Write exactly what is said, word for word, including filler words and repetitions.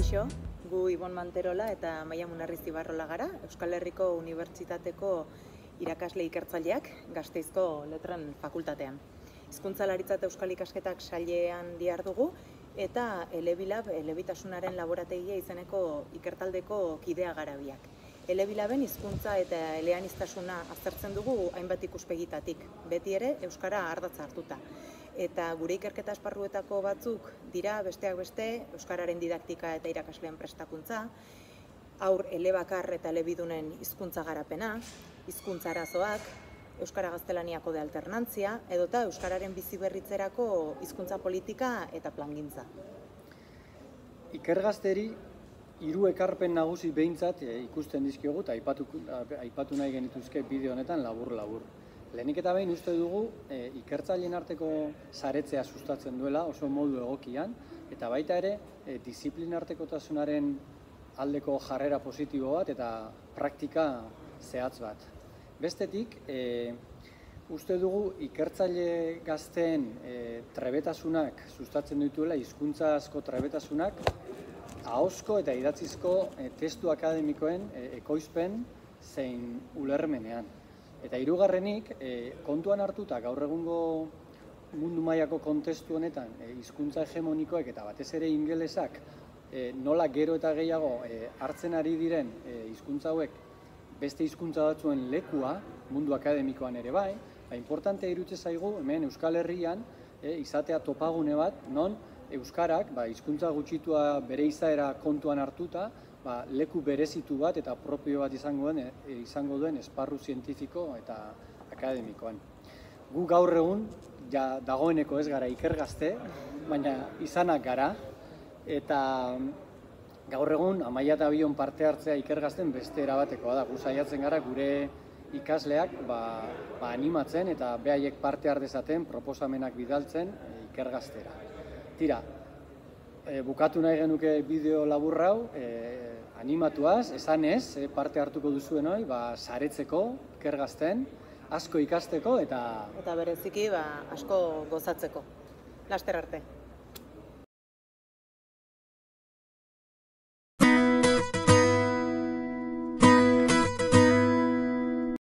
Kaixo, gu Ibon Manterola eta Maia Munarriz-Ibarrola gara, Euskal Herriko Unibertsitateko irakasle ikertzaileak Gasteizko Letren Fakultatean. Hizkuntzalaritza eta Euskal Ikasketak sailean dihardugu eta Elebilab, elebitasunaren laborategia izeneko ikertaldeko kidea gara biak. Elebilaben hizkuntza eta eleaniztasuna aztertzen dugu hainbat ikuspegitatik, beti ere euskara ardatza hartuta. Eta gure ikerketa esparruetako batzuk dira besteak beste euskararen didaktika eta irakasleen prestakuntza, haur elebakar eta elebidunen hizkuntza garapena, hizkuntza arazoak, euskara gaztelaniako de alternantzia, edota euskararen biziberritzerako hizkuntza politika eta plangintza. Ikergazteri hiru ekarpen nagusi behintzat ikusten dizkiogu eta aipatu, aipatu nahi genituzke bideo honetan labur-labur. Lehenik eta behin uste dugu e, ikertzaileen arteko saretzea sustatzen duela oso modu egokian, eta baita ere e, diziplinartekotasunaren aldeko jarrera positibo bat eta praktika zehatz bat. Bestetik, e, uste dugu ikertzaile gazteen e, trebetasunak sustatzen dituela, hizkuntza asko trebetasunak, ahozko eta idatzizko e, testu akademikoen e, ekoizpen zein ulermenean. Eta hirugarrenik, e, kontuan hartuta gaur egungo mundu mailako kontestu honetan e, hizkuntza hegemonikoek eta batez ere ingelesak e, nola gero eta gehiago e, hartzen ari diren e, hizkuntza hauek beste hizkuntza batzuen lekua mundu akademikoan ere bai, ba, importantea iruditzen zaigu hemen Euskal Herrian e, izatea topagune bat non euskarak ba, hizkuntza gutxitua bere izaera kontuan hartuta ba, leku berezitu bat eta propio bat izango duen, e, izango duen esparru zientifiko eta akademikoan. Gu gaur egun, ja dagoeneko ez gara ikergazte, baina izanak gara, eta gaur egun Amaia eta Bion parte hartzea ikergazten beste erabatekoa da. Gu saiatzen gara gure ikasleak ba, ba animatzen eta behaiek parte har dezaten proposamenak bidaltzen e, ikergaztera. Tira, e, bukatu nahi genuke bideo labur hau, e, animatuaz, esanez, e, parte hartuko duzuen hori, ba, saretzeko, ikergazten, asko ikasteko eta... Eta bereziki ba, asko gozatzeko. Laster arte.